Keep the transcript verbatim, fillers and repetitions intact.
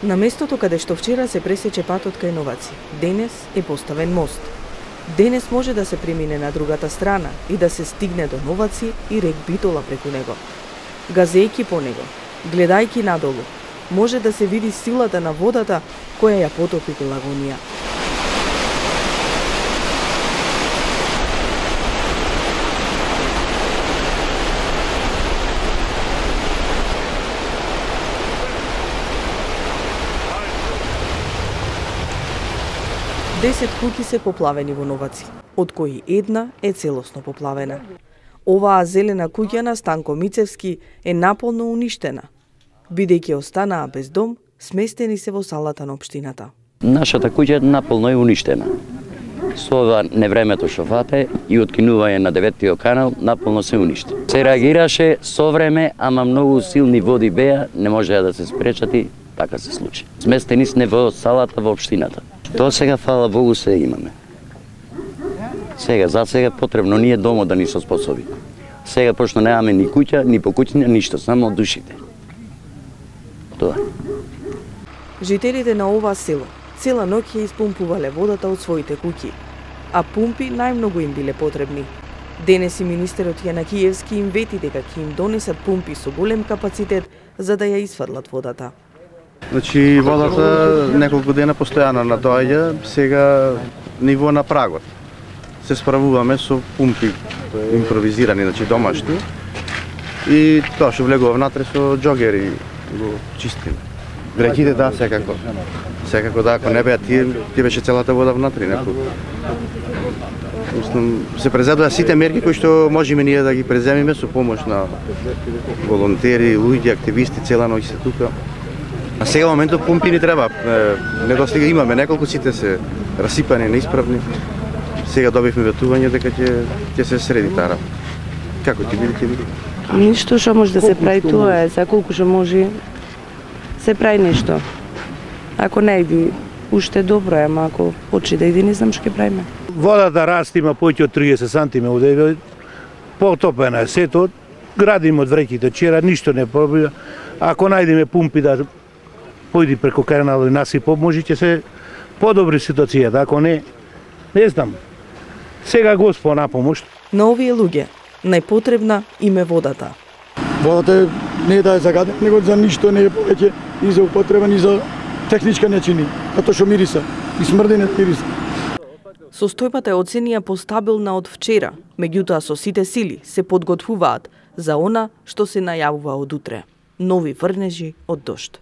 На местото каде што вчера се пресече патот кај Новаци, денес е поставен мост. Денес може да се премине на другата страна и да се стигне до Новаци и рек Битола преку него. Газејки по него, гледајки надолу, може да се види силата на водата која ја потопи Пелагонија. Десет куќи се поплавени во Новаци, од кои една е целосно поплавена. Оваа зелена куќа на Станко Мицевски е наполно уништена, бидејќи останаа без дом, сместени се во салата на општината. Нашата куќа наполно е уништена. Со ова невремето што фате и откинување на деветиот канал, наполно се уништи. Се реагираше со време, ама многу силни води беа, не можеа да се спречат и така се случи. Сместени сме во салата во општината. Тоа сега, фала Богу, се имаме. Сега, за сега потребно ние домо да ни се способи. Сега, пошто немаме ни куќа, ни покуќина, ништо, само од душите. Тоа. Жителите на ова село цела ноќ ја испумпувале водата од своите куќи, а пумпи најмногу им биле потребни. Денес и министерот Јанакиевски им вети дека ќе им донесат пумпи со голем капацитет за да ја изфрлат водата. Значи, водата неколку дена постојано надоаѓа, сега ниво на прагот. Се справуваме со пумпи импровизирани, значи домашни, и тоа што влегува внатре со џогери го чистиме. Реките, да, секако. Секако, да, ако не беа тие, тие беше целата вода внатре. Се презедува сите мерки кои што можеме ние да ги преземиме со помош на волонтери, луѓе, активисти, цела ноќ се тука. А сега моментот пумпи ни треба. Недостига имаме, неколку сите се расипани, неисправни. Сега добивме ветување дека ќе ќе се среди таа. Како ќе биде, ќе биде? Ништо што може да се прави, тоа е, за колку што може се прави нешто. Ако не иди, уште добро е, ама ако почне да иди, не знам што ќе правиме. Водата расте, има поќе од триесет сантиметри одеве, потопена е сето, градиме од вреките, вчера ништо не пробива. Ако најдеме пумпи да појди преку каналот и насипо, може ќе се подобри ситуацијата, ако не, не знам. Сега Господ на помош. На овие луѓе најпотребна им е водата. Водата не е да е за гадење, него за ништо не е повеќе и за употреба, и за техничка не чини, затоа што мириса и смрди не мириса. Состојбата е оценија постабилна од вчера, меѓутоа со сите сили се подготвуваат за она што се најавува од утре. Нови врнежи од дожд.